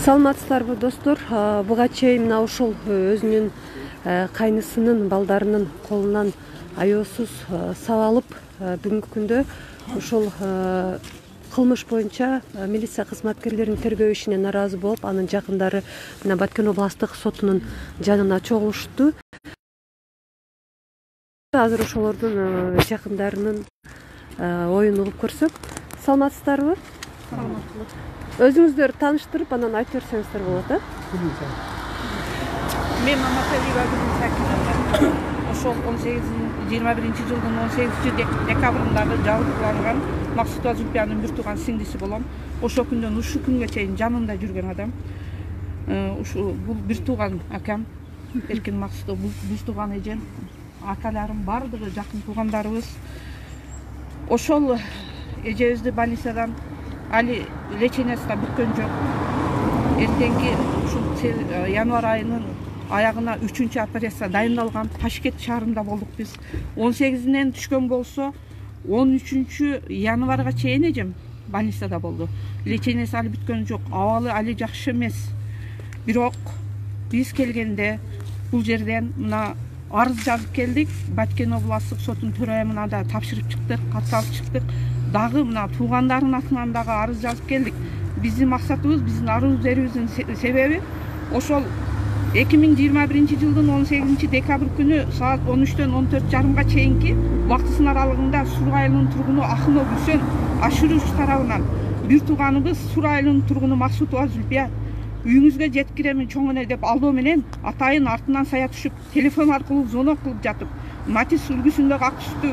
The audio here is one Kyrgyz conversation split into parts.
Саламатсыздарбы достор? Буга чейин мына ушул өзүнүн кайнысынын балдарынын колунан аеосуз сабалып бүгүнкү күндө ушул кылмыш боюнча милиция кызматкерлеринин тергөө ишине нааразы болуп, анын жакындары мына Баткен областык сотунун жанына чогулушту. Азыр ошолордун жакындарынын оюн угуп көрсөк. Саламатсыздарбы? Саламаттуулук. Өзүңүздөр тааныштырып, анан айтып берсеңиздер болот, Мен Маматалиева Гүлсакина. Ошол 21-жылдын 18-декабрындагы жабырланган Максутова Зүлпиянын бир тууган сиңдиси болом. Ошол күндөн ушул күнгө чейин жанымда жүргөн адам. Бул бир тууган акам, Эркин Максутов, бул бир тууган эжем, акаларым бардыгы жакын туугандарыбыз. Ошол эжебизди больницадан али лечениясы да бүткөн жок. Эртеңки ушул январь айынын аягына 3-чү операция дайындалган. Ташкент шаарында болдук биз. 18-нен түшкөн болсо, 13-чү январга чейин эжем больницада болду. Лечениясы али бүткөн жок. Абалы али жакшы эмес. Бирок биз келгенде бул жерден мына арыз жазып келдик. Баткен областтык соттун төрайымына да тапшырып чыктык, кат алып чыктык. Дагы мына туугандарынын атынан дагы арыз жазып келдик. Биздин максатыбыз, биздин арыз берүүбүздүн себеби ошол 2021-жылдын 18-декабрь күнү саат 13-төн 14:30 чейинки убактысынын аралыгында Сур айылынын тургуну Ахунов Үсөн Ашыруш тарабынан бир тууганыбыз Сур айылынын тургуну Максутова Зүлпия үйүңүзгө жетип киремин чоң эне деп алдоо менен атайын артынан сая түшүп, телефон аркылуу звонок кылып жатып, Матис үлгүсүндөгү ак түстүү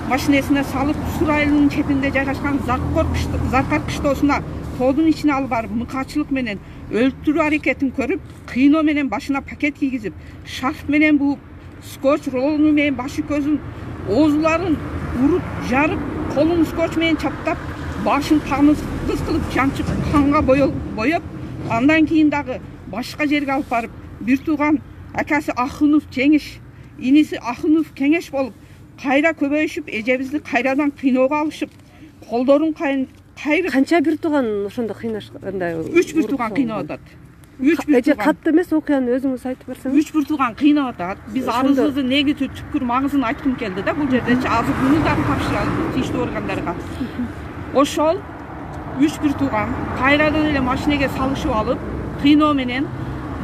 машинесине салып, Сур айылынын четинде жайгашкан Заркар кыштоосуна тоодун ичине алып барып, мыкаачылык менен өлтүрүү аракетин көрүп, кыйноо менен башына пакет кийгизип, шарф менен бууп, скотч рулону менен башы көзүн, оозуларын уруп, жарып, колун скотч менен чаптап, башын камыз кылып, жанчып, канга боеп, андан кийин дагы башка жерге алып барып, бир тууган акасы Ахунов Жеңиш, иниси Ахунов Кеңеш болуп, кайра көбөйүшүп, эжебизди кайрадан кыйноого алышып, колдорун кайрып. Канча бир тууган ошондо кыйнашкандай? 3 бир тууган кыйнап атат. 3 бир тууган. Катты эмес, окуяны өзүңүз айтып берсеңиз. 3 бир тууган кыйнап атат. Биз арызыбыздын негизги түпкүр магызын айткым келди да, бул жердечи азыр буну дагы тапшыралы тийиштүү органдарга. Ошол 3 бир тууган кайрадан эле машинеге салышып алып, кыйноо менен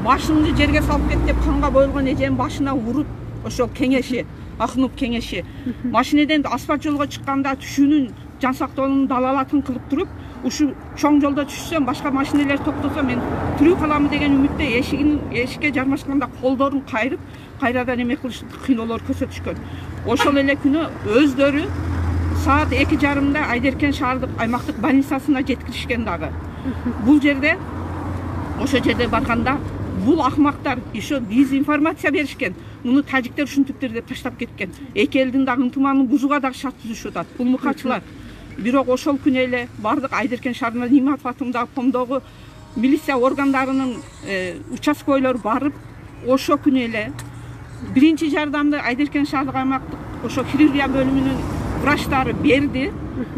башыңды жерге салып кет деп канга боелгон эженин башына уруп, ошол Кеңеши, Ахунов Кеңеши машинеден асфальт жолго чыкканда түшүүнүн жан сактоонун далалатын кылып туруп, ушу чоң жолдо түшсөм, башка машинелер токтосо мен тирүү каламы деген үмүттө эшикке жармашканда колдорун кайрып, кайрадан эме кылыш, кыйноолор көрсөтүшкөн. Ошол эле күнү өздөрү саат 2:30 Айдеркен шаардык аймактык больницасына жеткиришкен дагы. Бул жерде, ошол жерде барганда, бул акмактар еще дезинформация беришкен. Муну тажиктер ушинтиптир деп таштап кеткен. Эки элдин дагы ынтымагын бузууга дагы шарт түзүшүп атат. Бул мыкаачылар. Бирок ошол күнү эле бардык Айдеркен шаарына Ниматов атындагы помдогу милиция органдарынын участкойлору барып, ошол күнү эле биринчи жардамды Айдеркен шаардык аймактык ошо хирургия бөлүмүнүн врачтары берди.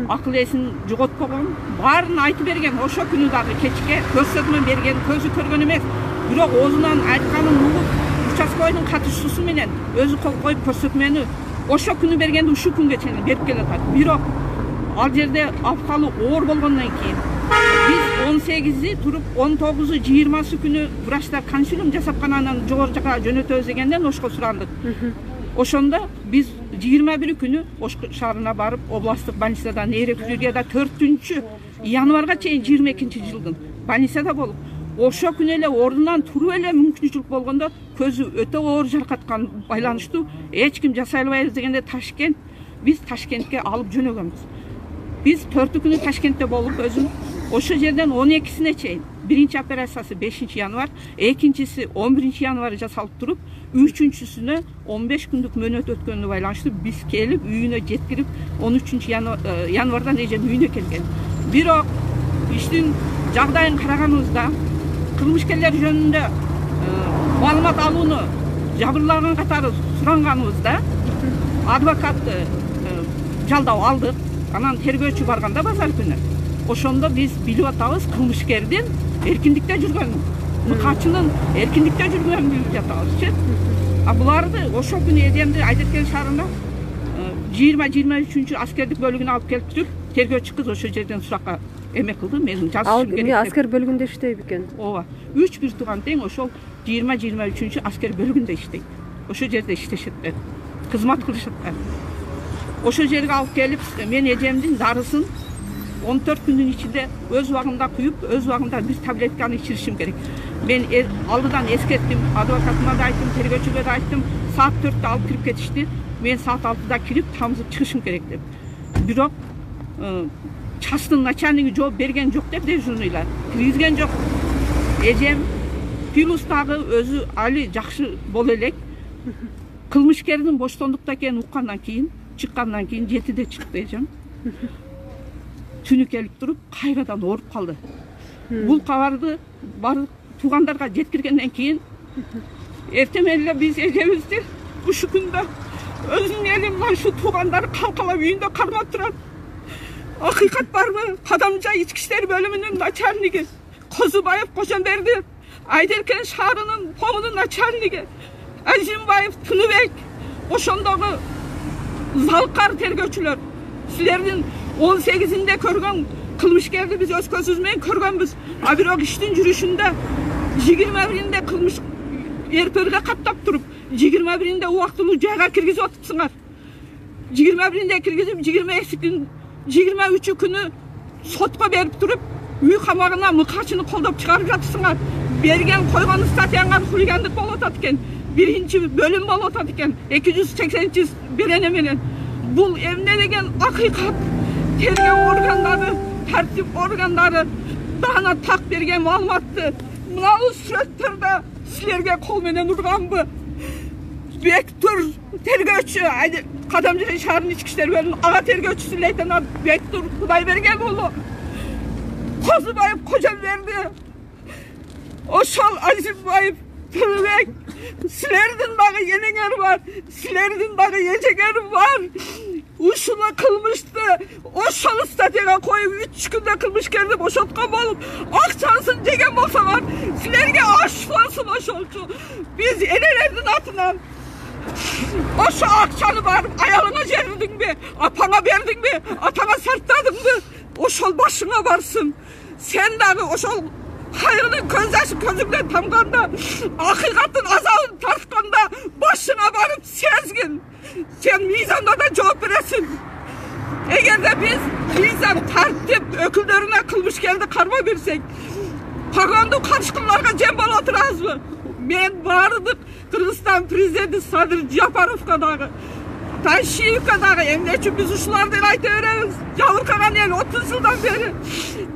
Акыл эсин жоготпогон, баарын айтып берген. Ошол күнү дагы кечке көрсөтмө берген, көзү көргөн эмес. Бирок оозунан айтканын угуп, участкойдун катышуусу менен өзү кол коюп көрсөтмөнү ошол күнү бергенди ушул күнгө чейин берип келатат. Бирок ал жерде абкалы оор болгондон кийин биз 18-и туруп 19-у 20-сы күнү врачтар консилиум жасап кана анан жогору жака жөнөтөбүз дегенден ошко сурандык. Ошондо биз 21 күнү Ош шаарына барып, областтык больницада нейрохирургияда 4-чү январга чейин 22-жылдын больницада болуп, ошол күнү эле ордунан туруп эле мүмкүнчүлүк болгондо көзү өтө оор жаракаткан байланыштуу эч ким жасай албайбыз дегенде биз Ташкентке алып жөнөгөнбүз. Биз 4-күнү Ташкентте болуп, өзүм ошол жерден 12-сине чейин биринчи операциясы 5-январь, экинчиси 11-январь жасалып туруп, 3-сүнө 15 күндүк мөөнөт өткөнүнө байланыштуу биз келип үйүнө жеткирип 13-январдан эжем үйүнө келген. Бирок иштин жагдайын караганыбызда, кылмышкерлер жөнүндө маалымат алууну жабырлаган катары суранганыбызда адвокатты жалдап алдык. Анан тергөөчү барганда базар күнү ошондо биз билип атабыз кылмышкердин эркиндикте жүргөн, мыкачынын эркиндикте жүргөнүн билип жатабызчы. А буларды ошол күнү Эдемди Айдаркен шаарына 20-23 аскердик бөлүгүнө алып келип туруп, тергөөчү кыз ошол жерден суракка эме кылды, менин жазышым керек. Ал аскер бөлүгүндө иштейт экен. Ооба. 3 бир тууган тең ошол 20-23 аскер бөлүгүндө иштейт. Ошол жерде иштешет, кызмат кылышат. Ошол жерге алып келип, мен эжемдин дарысын 14 күндүн ичинде өз убагында куюп, өз убагында бир таблетканы ичиришим керек. Мен алдыдан эскерттим, адвокатыма да айттым, тергөөчүгө да айттым, саат 4-тө алып кирип кетишти. Мен саат 6-да кирип, тамызып чыгышым керек деп. Бирок частын начальниги жооп берген жок деп дежурныйлар. Киргизген жок. Эжем плюс дагы өзү али жакшы боло элек. Кылмышкердин боштондукта экенин уккандан кийин, чыккандан кийин 7-де чыкты эжем. Түнү келип туруп, кайрадан ооруп калды. Бул кабарды бардык туугандарга жеткиргенден кийин эртең эле биз эжебизди ушу күндө өзүнүн эли менен ушу туугандары калкалап үйүндө кармап турат. Акыйкат барбы? Кадамжай ички иштер бөлүмүнүн начальниги Козубаев Кожомберди, Айдаркен шаарынын помунун начальниги Азимбаев Тыныбек, ошондогу залкар тергөөчүлөр, силердин 18-inde көргөн кылмышкерди биз өз көзүбүз менен көргөнбүз. А бирок иштин жүрүшүндө 21-inde кылмыш РПРге каттап туруп, 21-inde убактылуу жайга киргизип атыпсыңар. 21-inde киргизип, 23 күнү сотко берип туруп, үй камагына мыкачыны колдоп чыгарып жатырсыңар. Берген койгон статьяңар хулигандык болуп атат экен. 1-бөлүм болуп атат экен. 280 берене менен. Бул эмне деген акыйкат? Тергөө органдары, тартип органдары дана так берген маалыматты мынау сүрөттөрдө силерге кол менен урганбы? Бектур тергөөчү, Кадамжай шаарынын ички иштер бөлүмүнүн ага тергөөчүсү лейтенант Бектур Кудайберген уулу, Козубаев Кожомберди, ошол Азимбаев Тыныбек, силердин дагы энеңер бар, силердин дагы эжеңер бар. Ушула кылмышты ошол статьяга коюп 3 күндө кылмышкерди бошоткон болуп, акчасын жеген болсоңор, силерге аш болсун ошолчу. Биз энелердин атынан ошо акчаны барып аялыңа жердиңби, апаңа бердиңби, атаңа сарттадыңбы, ошол башыңа барсын. Сен дагы ошол кайгынын көз жашы көзүңдөн тамганда, акыйкаттын азабын тартканда башыңа барып сезгин. Сен мыйзамда да жооп бересиң. Эгерде биз мыйзам тартип өкүлдөрүнө кылмышкерди карма берсек, погондуу карышкыларга жем боло турабызбы? Мен бардык Кыргызстан президенти Садыр Жапаровго дагы, Тайшиевге дагы эмне үчүн биз ушуларды айта беребиз? Жабыркаган эл 30 жылдан бери.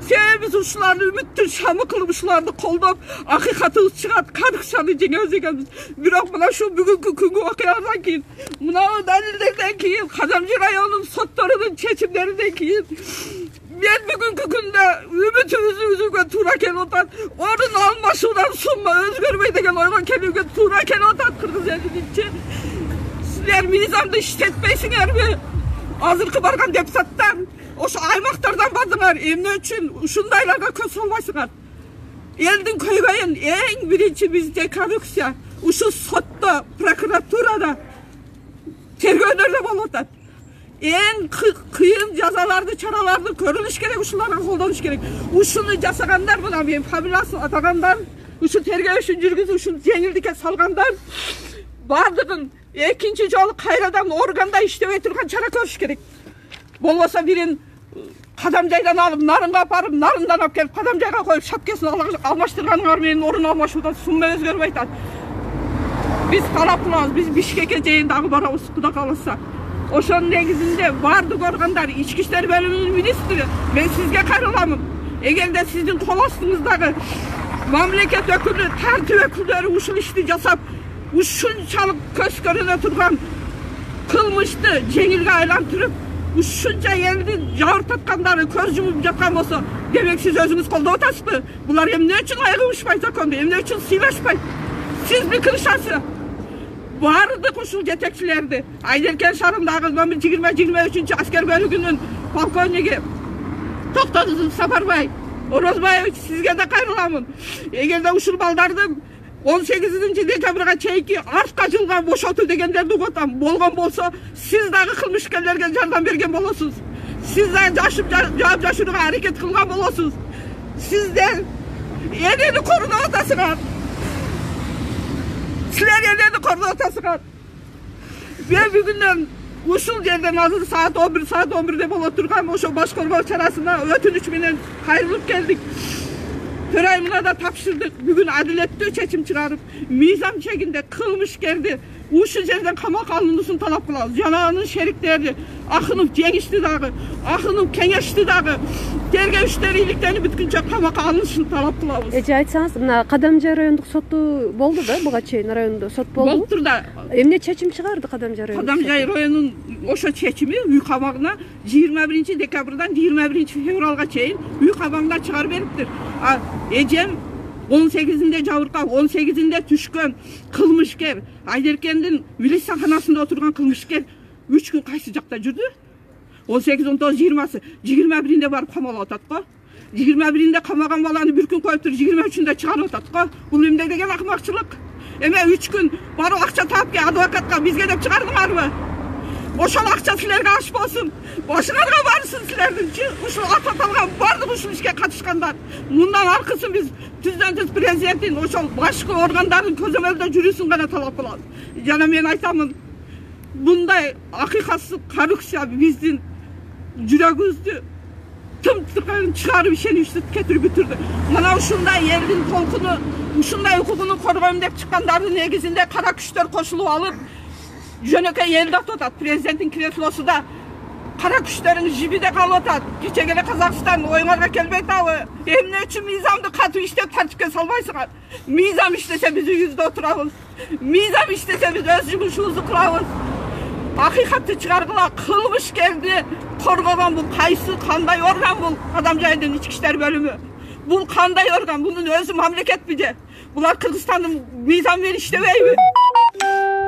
Себеби биз ушуларды үмүттүн шамы кылып, ушуларды колдоп, акыйкатыбыз чыгат, карыкшаны жеңебиз экенбиз. Бирок мына ушул бүгүнкү күнгү окуядан кийин, мынау далилдерден кийин, Кадамжай районунун сотторунун чечимдеринен кийин мен бүгүнкү күндө үмүтүбүздү үзүүгө туура келип атат. Орун алмашуудан сумма өзгөрбөй деген ойго келүүгө туура келип атат кыргыз элининчи. Силер мыйзамды иштетпейсиңерби? Азыркы барган депутаттар ошо аймактардан бардыңар, эмне үчүн ушундайларга көз салбайсыңар? Элдин көйгөйүн эң биринчи бизде коррупция ушу сотто, прокуратурада, тергөөлөрдө болуп атат. Эң кыйын жазаларды, чараларды көрүлүш керек, ушуларга колдонуш керек. Ушуну жасагандар, мына мен фамилиясын атагандар, ушу тергөө ишин жүргүзүп, ушун жеңилдикке салгандар бардыгын экинчи жолу кайрадан органда иштебей турган чара көрүш керек. Болбосо бирин Кадамжайдан алып, Нарынга апарып, Нарындан алып келип Кадамжайга коюп, шапкесин алмаштырганыңар менен орун алмашуудан сумма өзгөрбөй атат. Биз талап кылабыз, биз Бишкекке чейин дагы барабыз, Кудай кааласа. Ошонун негизинде бардык органдар, ички иштер бөлүмүнүн министри, мен сизге кайрыламын. Эгерде сиздин кол астыңыздагы мамлекет өкүлү, тартип өкүлдөрү ушул ишти жасап, ушунчалык көз көрүнө турган кылмышты жеңилге айлантырып, ушунча элдин жабыртаткандары көз жумуп жаткан болсо, демек сиз өзүңүз колдоп атасызбы? Булар эмне үчүн айыгышпайт законду, эмне үчүн сыйлашпайт? Сиз бикиришасыз. Бардык ушул жетекчилерди, Айдаркен шаарындагы номер 20-23 аскер бөлүгүнүн полковниги Токтогул Сапарбай, Орозбаевич, сизге да кайрыламын. Эгерде ушул балдардын 18-декабрга чейинки артка жылган бошотуу дегендерди угуп атам. Болгон болсо, сиз дагы кылмышкерлерге жардам берген болосуз. Сиз дагы жооп жашырууга аракет кылган болосуз. Сиздер энени кордоп атасыңар. Силер энени кордоп атасыңар. Мен бүгүндөн ушул жерден азыр саат 11 боло турган ошо баш коргоо чарасына өтүнүч менен кайрылып келдик. Төрайымына да тапшырдык. Бүгүн адилеттүү чечим чыгарып, мыйзам чегинде кылмышкерди ушул жерден камакка алынуусун талап кылабыз. Жана анын шериктери Акынов жеңишти дагы, Акынов кеңешти дагы, тергөөчүлөр иликтенип бүткүнчө камакка алынышын талап кылабыз. Эже айтсаңыз, мына Кадамжай райондук соту болду да, буга чейин райондо сот болду. Болуптур да. Эмне чечим чыгарды Кадамжай райондук? Кадамжай районунун ошо чечими үй кабагына 21-декабрдан 21-февралга чейин үй кабагына чыгарып бериптир. Эжем 18-inde жабыркап, 18-inde түшкөн кылмышкер, Айдеркендин милицияканасында отурган кылмышкер 3 күн кайсы жакта жүрдү? 18, 19, 20-сы, 21-inde барып камалып атат го. 21-inde камаган баланы бир күн коюп туруп 23-ünde чыгарып атат го. Бул эмне деген акмакчылык? Эме 3 күн барып акча таап ке адвокатка бизге деп чыгардыңарбы? Ошол акча силерге аш болсун. Башыңарга барсын силердинчи. Ушул аталган бардык ушул ишке катышкандар. Мындан аркысын биз түздөн-түз президенттин ошол башкы органдардын көзөмөлдө жүрүүсүн гана талап кылабыз. Жана мен айтамын, мындай акыйкатсыз коррупция биздин жүрөгүбүздү тым-тыркайын чыгарып ишеничти кетирип бүтүрдү. Мына ушундай элдин толкуну, ушундай укугуну коргойм деп чыккандардын негизинде кара күчтөр кошулуп алып, жөнөкөй элди атып атат. Президенттин креслосунда кара күчтөрүн жибиде калып атат. Кечеге эле Казакстан оюңарга келбей атабы? Эмне үчүн мыйзамды катуу иштеп тартипке салбайсыңар? Мыйзам иштесе биз үйүбүздө отурабыз. Мыйзам иштесе биз өз жумушубузду кылабыз. Акыйкатты чыгаргыла, кылмышкерди коргогон бул кайсы, кандай орган бул? Кадамжайдын ички иштер бөлүмү. Бул кандай орган? Бунун өзү мамлекетпи же? Булар Кыргызстандын мыйзамы менен иштебейби?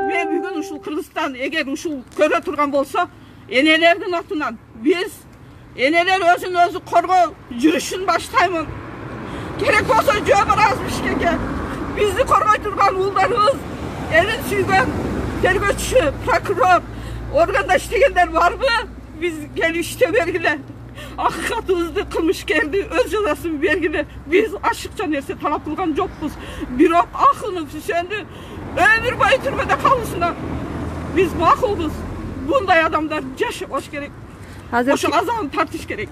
Мен бүгүн ушул Кыргызстан эгер ушул көрө турган болсо, энелердин атынан биз энелер өзүн өзү коргоо жүрүшүн баштаймын. Керек болсо жөө барабыз Бишкекке. Бизди коргой турган уулдарыбыз, элин сүйгөн тергөөчү, прокурор, органда иштегендер барбы? Биз келип иштеп бергиле. Акыйкатыбызды, кылмышкерди өз жазасын бергиле. Биз ашыкча нерсе талап кылган жокпуз. Бирок Акынов Сүсөндү өмүр бою түрмөдө калышына биз макулбуз. Bunday адамдар жашабаш керек. Ошо азабын тартыш керек.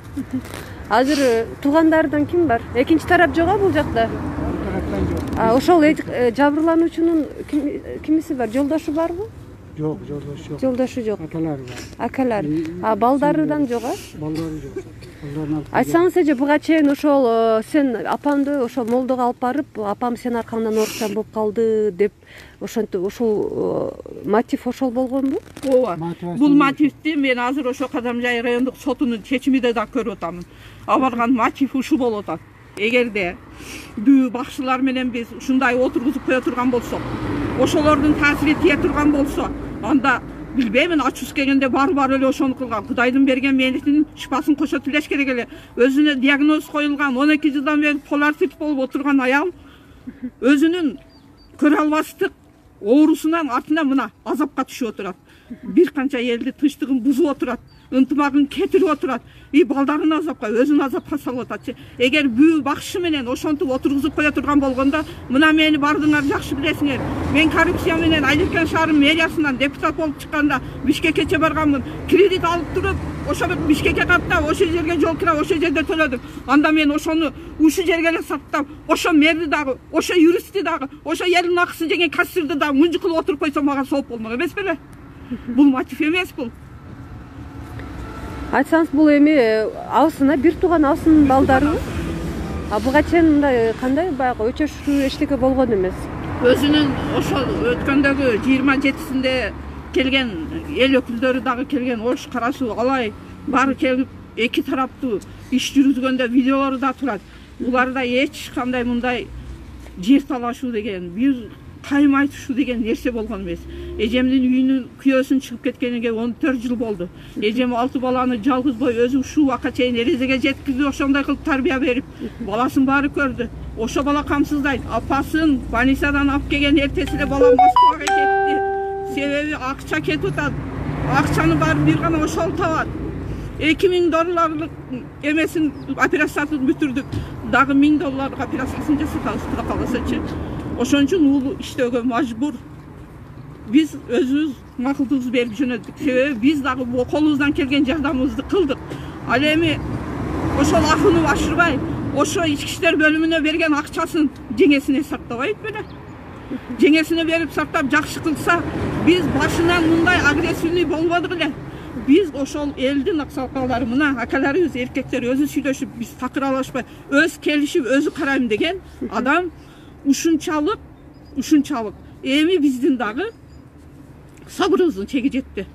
Азыр туугандардан ким бар? Экинчи тарап жок бул жакта. Ошол жабырлануучунун кимиси бар? Жолдошу барбы? Жок, жолдошу жок. Жолдошу жок. Акалары бар. Акалар. Балдарыдан жок, Балдары жок. Айтсаңыз эже, буга чейин ошол сен апамды ошол молдого алып барып, апам сен аркаңдан оорукчан болуп калды деп ошентип ошол мотив ошол болгонбу? Ооба. Бул мотивди мен азыр ошо Кадамжай райондук сотунун чечимиде да көрүп атамын. Аларган мотив ушул болуп атат. Эгерде бүү бакчылар менен биз ушундай отургузуп кое турган болсок, ошолордун таасири тие турган болсо, анда билбеймин, ачуус келгенде бар эле ошону кылган. Кудайдын берген мээлитинин шифасын кошо тилеш керек эле. Өзүнө диагноз коюлган 12 жылдан бери поларцит болуп отурган аял өзүнүн көрө албастык оорусунан артынан мына азапка түшүп отурат. Бир канча элди тынчтыгын бузуп отурат, ынтымагын кетирип отурат. Балдарын азапка, өзүн азапка салып атат. Эгер бүү бакшы менен ошентип отургузуп кое турган болгондо, мына мени бардыңар жакшы билесиңер. Мен коррупция менен Айдеркен шаарынын мэриясынан депутат болуп чыкканда Бишкекке барганмын. Кредит алып туруп, ошо Бишкекке каттап, ошол жерге жол кира, ошол жерде төлөдүм. Анда мен ошону ушул жерге эле саттап, ошо мэрди дагы, ошо юристти дагы, ошо элдин акысын жеген кассирди дагы мынжы кылып отуруп койсо мага сооп болмок эмес беле? Бул мотив эмес бул. Айтсаңыз, бул эми абысына бир тууган абысынын балдары. Буга чейин мындай кандай баягы өчөшүү эчтеке болгон эмес. Өзүнүн ошол өткөндөгү 27-синде келген эл өкүлдөрү дагы келген, ош карасуу алай баары келип эки тараптуу иш жүргүзгөндө видеолору да турат. Буларда эч кандай мындай жер талашуу деген, бир кайым айтышуу деген нерсе болгон эмес. Эжемдин үйүнүн күйөөсүн чыгып кеткениге 14 жыл болду. Эжем 6 баланы жалгызбой өзү ушул убакка чейин эрезеге жеткизип, ошондой кылып тарбия берип, баласын баары көрдү. Ошо бала камсыздайт. Апасын больницадан алып келген эртеси эле бала Москвага кетти. Себеби акча кетип атат. Акчаны баарын бир гана ошол табат. 2000 долларлык эмесин операциясын бүтүрдүк. Дагы $1000 операциясын жасатабыз, Кудай кааласачы. Ошон үчүн уулу иштөөгө мажбур. Биз өзүбүз макулдугубузду берип жөнөттүк. Себеби биз дагы колубуздан келген жардамыбызды кылдык. Ал эми ошол акыны башырбай, ошо ички иштер бөлүмүнө берген акчасын жеңесине сактабайт беле. Жеңесине берип сактап жакшы кылса, биз башынан мындай агрессивный болбодук эле. Биз ошол элдин аксакалдары мына акаларыбыз, эркектер өзү сүйлөшүп, биз такыр алышпай, өз келишип, өзү карайм деген адам ушунчалык. Эми биздин дагы сабырыбыздын чеги жетти.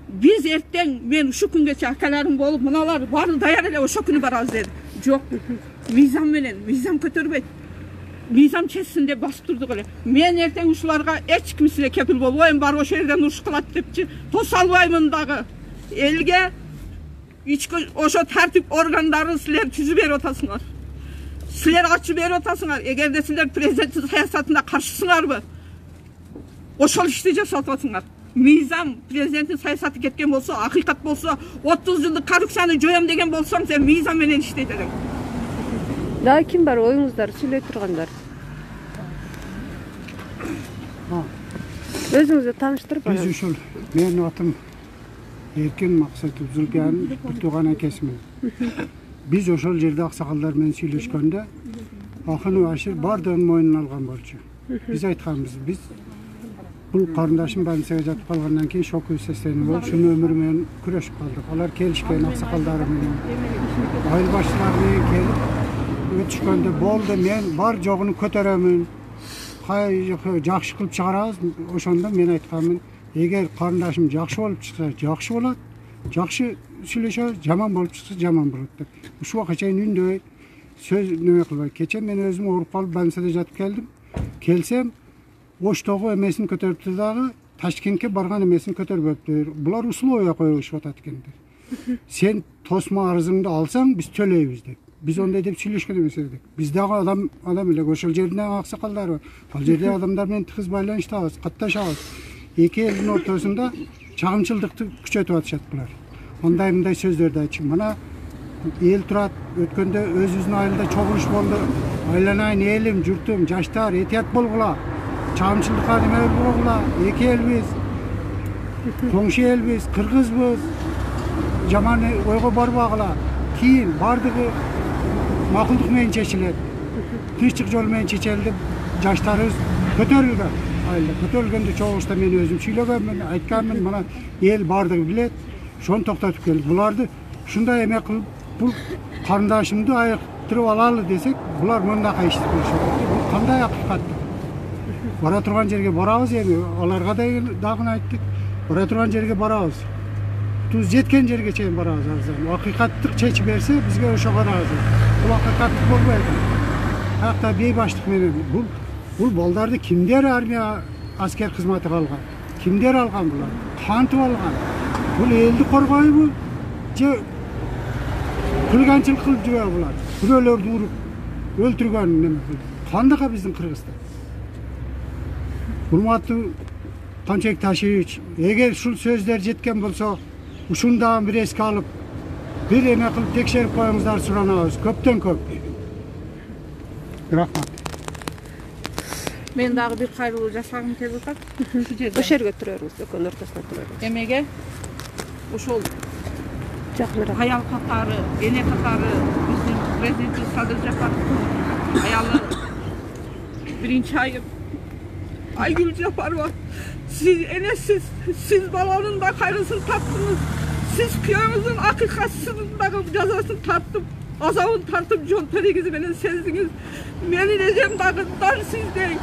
Биз эртең мен ушу күнгөчө акаларым болуп, мыналар баары даяр эле ошо күнү барабыз деди. Жок. Мыйзам менен, мыйзам көтөрбөйт. Мыйзам чечсин деп басып турдук эле. Мен эртең ушуларга эч кимисине кепил болбойм, бар ошол жерден уруш кылат депчи, тоса албаймын дагы. Элге ички ошо тартип органдарын силер түзүп берип атасыңар. Силер ачып берип атасыңар. Эгерде силер президенттин саясатына каршысыңарбы, ошол ишти жасап атасыңар. Мыйзам президенттин саясаты кеткен болсо, акыйкат болсо, 30 жылдык коррупцияны жоём деген болсоң, сен мыйзам менен иштейт элең. Дагы ким бар оюңуздар сүйлөй тургандар? Өзүңүздү тааныштырып Биз ушул менин атым Эркин Максатов Зулкан, бир тууган акесимин. Биз ошол жерде аксакалдар менен сүйлөшкөндө акыны башыр баардыгын мойнуна алган болчу. Биз айтканбыз, биз бул карындашым больницага жатып калгандан кийин шоковый состояние болуп, ушунун өмүрү менен күрөшүп калдык. Алар келишкен аксакалдары менен, айыл башчылары менен келип өтүшкөндө болду, мен бар жогуну көтөрөмүн, жакшы кылып чыгарабыз. Ошондо мен айтканмын, эгер карындашым жакшы болуп чыкса, жакшы болот, жакшы сүйлөшөбүз, жаман болуп чыкса, жаман болот деп. Ушул убакка чейин үндөй, сөз неме кылбай. Кече мен өзүм ооруп калып больницада жатып келдим. Келсем, Оштогу эмесин көтөрүптү дагы, Ташкентке барган эмесин көтөрбөптүр. Булар условия коюшуп атат экендер. Сен тосма арызыңды алсаң, биз төлөйбүз деп. Биз ондай деп сүйлөшкөн эмес едик. Биз дагы адам эле ошол жердин аксакалдары бар. Ал жерде адамдар менен тыгыз байланыштабыз, катташабыз. Эки элдин ортосунда чагымчылдыкты күчөтүп атышат булар. Мындай сөздөрдү айтчу. Мына эл турат, өткөндө өзүбүздүн айылда чогулуш болду. Айланайын элим, журтум, жаштар, этият болгула. Чагымчылдыкка неме болгула. Эки элбиз, коңшу элбиз, кыргызбыз. Жаман ойго барбагыла. Кийин бардыгы макулдук менен чечилет. Тынччык жол менен чечилди. Жаштарыбыз көтөрүлгөн. Айылда көтөрүлгөндө чогулушта мен өзүм сүйлөгөнмүн, айтканмын, мына эл бардыгы билет. Ошону токтотуп келдик. Буларды ушундай эме кылып, бул карындашымды айыктырып алалы десек, булар мындакай ишти кылышат. Бул кандай акыйкат? Бара турган жерге барабыз эми, аларга дагы айттык. Бара турган жерге барабыз. Туз жеткен жерге чейин барабыз арзан. Акыйкаттык чечип берсе, бизге ошого ыраазы. Бул акыйкаттык болбойт. Каякта бейбаштык менен бул балдарды кимдер армия аскер кызматы калган? Кимдер алган булар? Кантип алган? Бул элди коргойбу? Же кылганчылык кылып жүрөбү булар? Бирөөлөрдү уруп, өлтүргөн неме кылып. Кандайга биздин Кыргызда? Урматтуу Канчек Ташевич, эгер ушул сөздөр жеткен болсо, ушуну дагы бир эске алып, бир эме кылып текшерип коюңуздар суранабыз. Көптөн көп. Рахмат. Мен дагы бир кайрылуу жасагым келип атат. Ушу жерде. Ошол жерге тура бериңиз, экөөнүн ортосуна тура бериңиз. Эмеге ошол Жакыныраак. аял катары, эне катары биздин президент Садыр Жапаровдун аялы биринчи айым Айгүл Жапарова, siz enesiz, siz баланын да кайрысын таптыңыз, siz күйөөңүздүн акыйкатсыздын дагы жазасын тартып, азабын тартып жон төрегиз менен сездиңиз. Менин эжем дагы дар сиздей.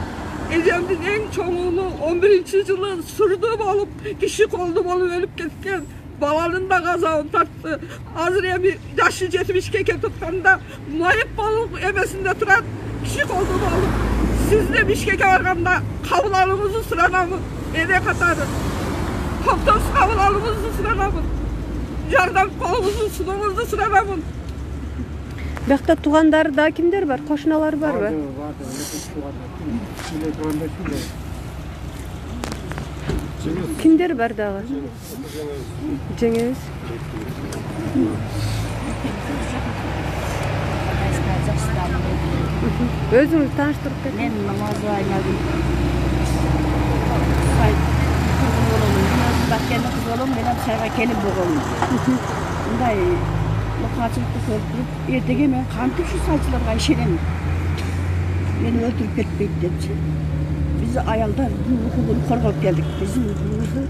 Эжемдин эң чоң уулу 11-жылы сурдуу болуп, киши колду болуп өлүп кеткен. Баланын да азабын тартты. Азыр эми жашы 70-ке кетип атканда майып болуп эмесинде турат, киши колду болуп. Сизди Бишкекке барганда кабыл алууңузду суранамын. Эне катары автобус кабыл алууңузду суранамын. Жардам колуңузду сунууңузду суранамын. Бакта туугандары да кимдер бар? Кошуналар барбы? Кимдер бар дагы? Жеңеңиз? Өзүңүз тааныштырып кетиңиз. Мен намазы айнадым. Баткенде кыз болом, менен сайга келип болгонмун. Мындай мукачылыкты көрүп туруп, эртеге мен кантип ушу сайчыларга ишенем? Мени өлтүрүп кетпейт депчи. Биз аялдар укугун коргоп келдик. Биздин укугубузду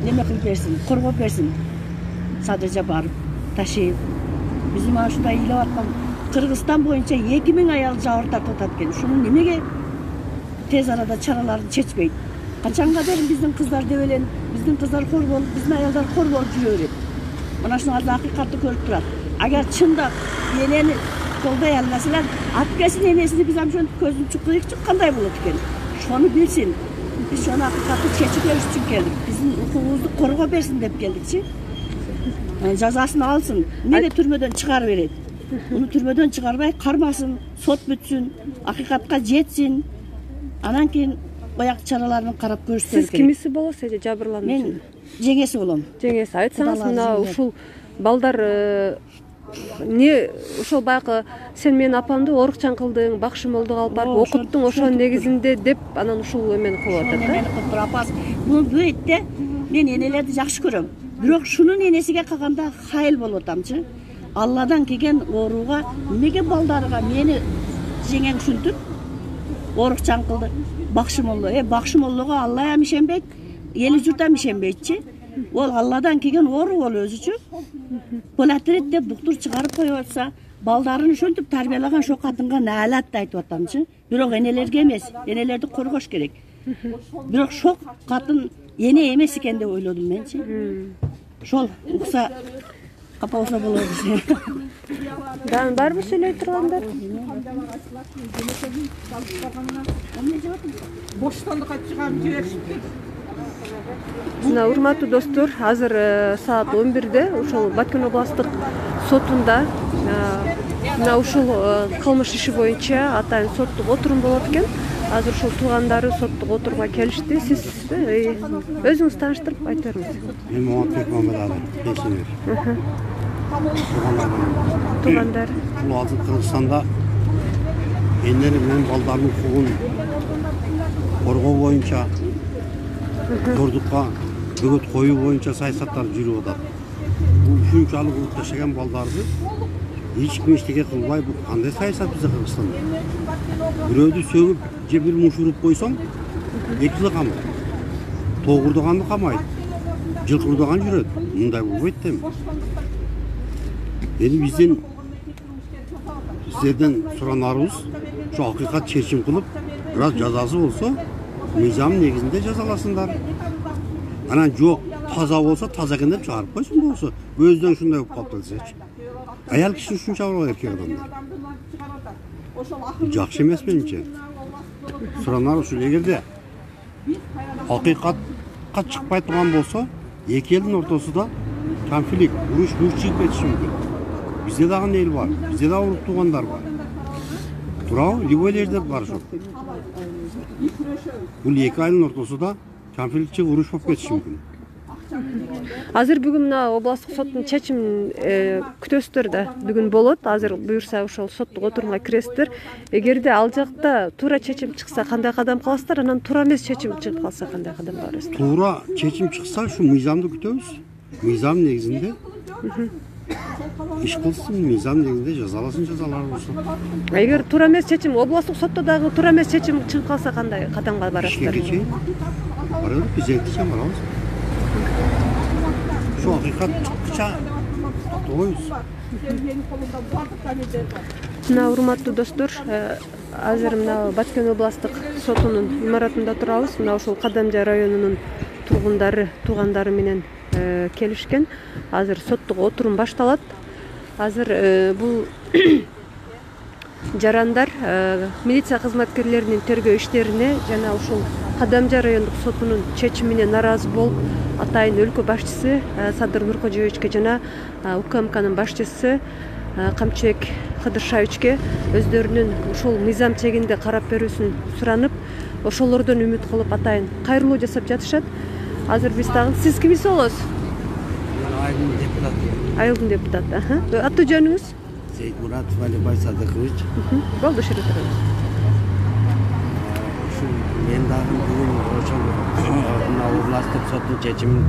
неме кылып берсин, коргоп берсин. Садыржа барып, Ташиев. Биздин mana ушундай ыйлап аткан Кыргызстан боюнча 2000 аял жабыр тартып атат экен. Ушуну немеге тез арада чараларын чечпейт? Качанга дейин биздин кыздар деп элен, биздин кыздар кор болуп, биздин аялдар кор болуп жүрө берет. Мына ушуну акыйкатты көрүп турат. Агар чындап энени колдой албасалар, апкесин энесини биз ошентип көзүн чукуйчу кандай болот экен? Шону билсин. Биз ошону акыйкатты чечип бериш үчүн келдик. Биздин укугубузду коргоп берсин деп келдикчи. Жазасын алсын. Мени түрмөдөн чыгарып берет. Уну түрмөдөн чыгарбай кармасын, сот бүтсүн, акыйкатка жетсин. Анан кийин бояк чараларын карап көрүшсө керек. Сиз кимиси болосуз же жабырлануучу? Мен жеңеси болом. Жеңеси. Айтсаңыз, мына ушул балдар не ошол баягы сен менин апамды орукчан кылдың, бакшымолдук алып барып окуттуң ошонун негизинде деп анан ушул эмени кылып атат да. Апас, бул бөйтте мен энелерди жакшы көрөм. Бирок шунун энесиге калганда хайыл болуп атамчы. Алладан келген ооруга эмнеге балдарга мени жеңең ушинтип орукчан кылды? Бакшымолло, бакшымоллого Алла ham ишенбейт, эли журт ham ишенбейтчи. Ол Алладан келген оору ол өзүчү. Болатырет деп доктор чыгарып коюп атса, балдарын ушинтип тарбиялаган ошо катынга наалат айтып атамчы. Бирок энелерге эмес, энелерди коргош керек. Бирок шок катын эне эмес экен деп ойлодум менчи. Ошол укса капа болсо болот. Дагы барбы сүйлөй тургандар? Боштондукка чыгарып жиберишти. Мына урматтуу достор, азыр саат 11-де ушул Баткен областтык сотунда мына ушул кылмыш иши боюнча атайын соттук отурум болот экен. Азыр ушул туугандары соттук отурумга келишти. Сиз өзүңүз тааныштырып айта бериңиз. Мен Маматбек Мамедали, пенсионер. Туугандар. Бул азыр Кыргызстанда энелер менен балдардын укугун коргоо боюнча, зордукка бөгөт коюу боюнча саясаттар жүрүп атат. Бул ушунчалык улут жашаган балдарды эч ким эчтеке кылбай, бул кандай саясат бизде Кыргызстанда? Бирөөдү сөгүп же бир муш уруп койсоң, 2 жыл камайт. Тогурдаганды камайт. Жылкырдаган жүрөт. Мындай болбойт дейм. Эми сиздерден суранарыбыз ушу акыйкат чечим кылып, бираз жазасы болсо, мыйзам негизинде жазаласындар. Анан жок, таза болсо, таза экен деп чыгарып койсун болсо, өзүнөн ушундай болуп калып келсечи. Аял киши ушунча болот эркек адамдар. Жакшы эмес менимче. Суранар ушул эгерде акыйкатка чыкпай турган болсо, эки элдин ортосунда конфликт, уруш чыгып кетиши мүмкүн. Бизде дагы эл бар, бизде дагы урук туугандар бар. Туурабы? Любой жерде бар ошол. Бул эки айылдын ортосунда конфликт чыгып уруш болуп кетиши мүмкүн. Азыр бүгүн мына областтык соттун чечимин күтөсүздөр да. Бүгүн болот. Азыр буюрса ошол соттук отурумга киресиздер. Эгерде ал жакта туура чечим чыкса кандай кадам кыласыздар? Анан туура эмес чечим чыгып калса кандай кадам барасыздар? Туура чечим чыкса, ушу мыйзамды күтөбүз. Мыйзам негизинде иш кылсын, мыйзам негизинде жазалар болсун. Эгер туура эмес чечим, областтык сотто дагы туура эмес чечим чыгып калса кандай кадамга барасыздар? Ишке чейин барабыз, президентке чейин барабыз. Şu hakikat çıktıkça to'yuz. Мына урматтуу достор, азыр мына Баткен областтык сотунун имаратында турабыз. Мына ошол Кадамжай районунун туугандары менен келишкен. Азыр соттук отурум башталат. Азыр бул жарандар милиция кызматкерлеринин тергөө иштерине жана ушул Кадамжай райондук сотунун чечимине нааразы болуп, атайын өлкө башчысы Садыр Нуркожоевичке жана УКМКнын башчысы Камчыбек Кыдыршаевичке өздөрүнүн ушул мыйзам чегинде карап берүүсүн суранып, ошолордон үмүт кылып атайын кайрылуу жасап жатышат. Азыр биз дагы сиз кимиз болосуз? Айылдын депутаты. Айылдын депутаты. Аты жөнүңүз? Сейтмуратов Алибай Садыкович. Болду, шере турабыз. Мен дагы бүгүн ошол мына областтык соттун чечимин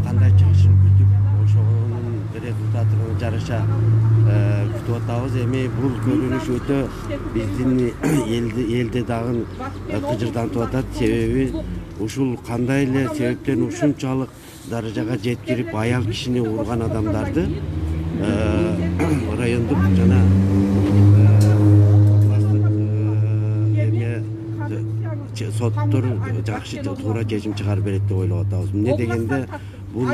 кандай чыгышын күтүп, ошонун результатына жараша күтүп атабыз. Эми бул көрүнүш өтө биздин элде дагы кыжырдантып атат. Себеби ушул кандай эле себептен ушунчалык даражага жеткирип аял кишини урган адамдарды райондук жана соттор жакшы туура чечим чыгарып берет деп ойлоп атабыз. Эмне дегенде бул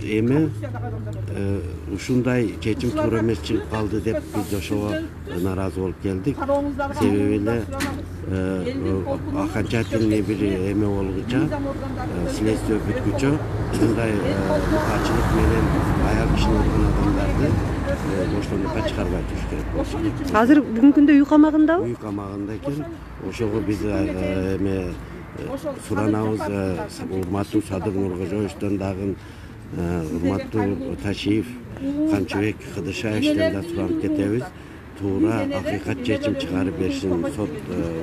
эми ушундай чечим туура эмес чыгып калды деп биз ошого нааразы болуп келдик. Себеби эле окончательный бир эме болгуча, следствие бүткүчө мындай мукачылык менен аял кишини урган адамдарды боштондукка чыгарбай туруш керек болчу. Азыр бүгүнкү күндө үй камагындабы? Үй камагында экен. Ошого биз эме суранабыз, урматтуу Садыр Нуркожоевичтен дагы урматтуу Ташиев, Камчыбек Кыдыршаевичтен да суранып кетебиз. Туура акыйкат чечим чыгарып беришин сот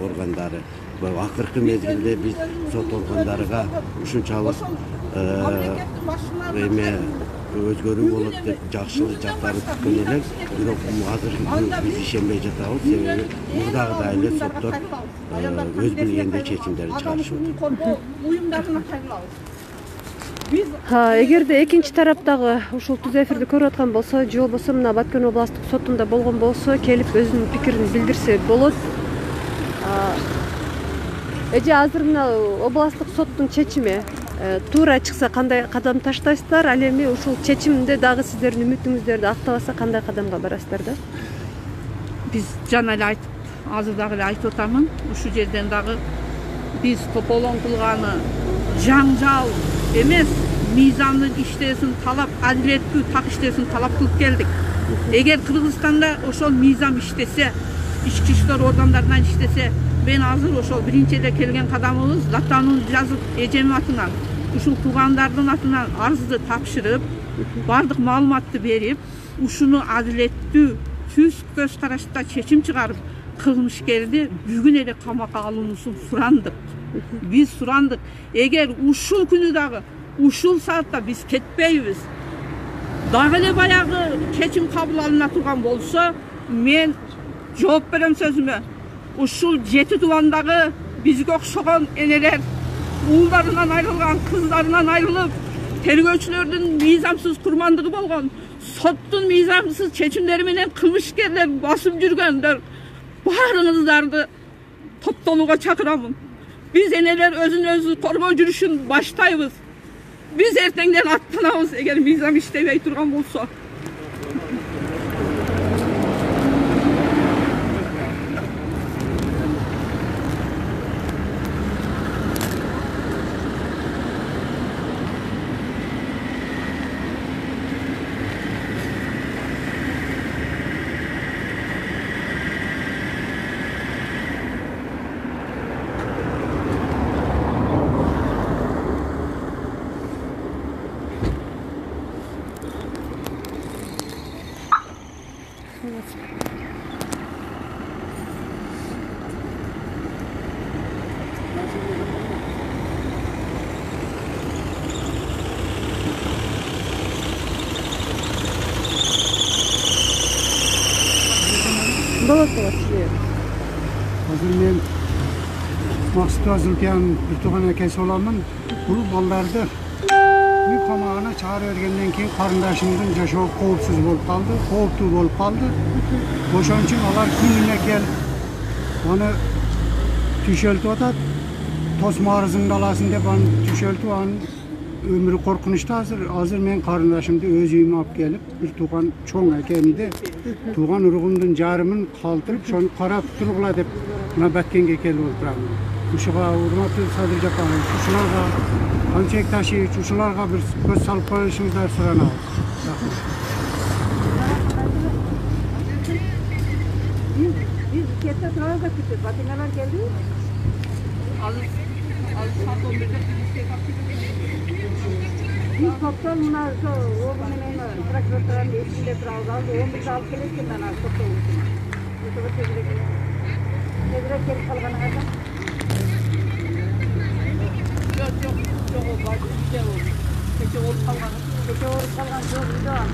органдары. Акыркы мезгилде биз сот органдарыга ушунчалык эме өзгөрүү болот деп жакшылык жактарын күткөн элек, бирок азыр биз ишенбей жатабыз. Себеби мурдагыдай эле соттор өз билгендей чечимдерди чыгарышып атат. Эгерде экинчи тараптагы ушул түз эфирди көрүп аткан болсо, же болбосо мына Баткен областтык сотунда болгон болсо, келип өзүнүн пикирин билдирсе болот. Эже азыр мына областтык соттун чечими туура чыкса кандай кадам таштайсыздар? Ал эми ушул чечимде дагы сиздердин үмүтүңүздөрдү актабаса кандай кадамга барасыздар да? Биз жана эле айтып, азыр дагы эле айтып атамын. Ушул жерден дагы биз тополоң кылганы жаңжал эмес, мыйзамдын иштесин талап, адилеттүү так иштесин талап кылып келдик. Эгер Кыргызстанда ошол мыйзам иштесе, ички иштер органдарынан иштесе, мен азыр ошол биринчи эле келген кадамыбыз датанын жазып эжемин атынан, ушул туугандардын атынан арызды тапшырып, бардык маалыматты берип, ушуну адилеттүү түз көз карашта чечим чыгарып, кылмышкерди бүгүн эле камакка алуусун сурандык. Биз сурандык. Эгер ушул күнү дагы, ушул саатта биз кетпейбиз, дагы эле баягы чечим кабыл алына турган болсо, мен жооп берем сөзүмө. Ушул 7 тубандагы бизге окшогон энелер уулдарынан айрылган, кыздарынан айрылып, тергөөчүлөрдүн мыйзамсыз курмандыгы болгон, соттун мыйзамсыз чечимдери менен кылмышкерлер басып жүргөндөр баарыңыздарды топтолууга чакырамын. Биз энелер өзүн өзү коргоо жүрүшүн баштайбыз. Биз эртеңден аттанабыз эгер мыйзам иштебей турган болсо. Болот. Азыр мен Максутова Зулпиянын бир тууган акеси боламын. Бул балдарды үй камагына чыгарып бергенден кийин карындашымдын жашоо коопсуз болуп калды, кооптуу болуп калды. Ошон үчүн алар күнүнө келип аны түшөлтүп атат. Тосмо арызыңды аласың деп аны түшөлтүп, анын өмүрү коркунучта. Азыр мен карындашымды өз үйүмө алып келип, бир тууган чоң акемди Тууган уругумдун жарымын калтырып, ошону карап тургула деп мына Баткенге келип отурам. Ушуга урматтуу Садыр Жапарович, ушуларга Алчек Ташевич, ушуларга бир көз салып коюшуңуздарды суранабыз. Рахмат. Biz kette turarız da küçük. Batinalar geldi. Biz toptan bunlar şu oğlum hemen traktörlerin içinde turarız. 11 alıp gelirken ben az toptan unuttum. Yoksa tezrek gelip kalgana kadar. Yok. Geçe olup kalgan. Geçe olup kalgan. Yok.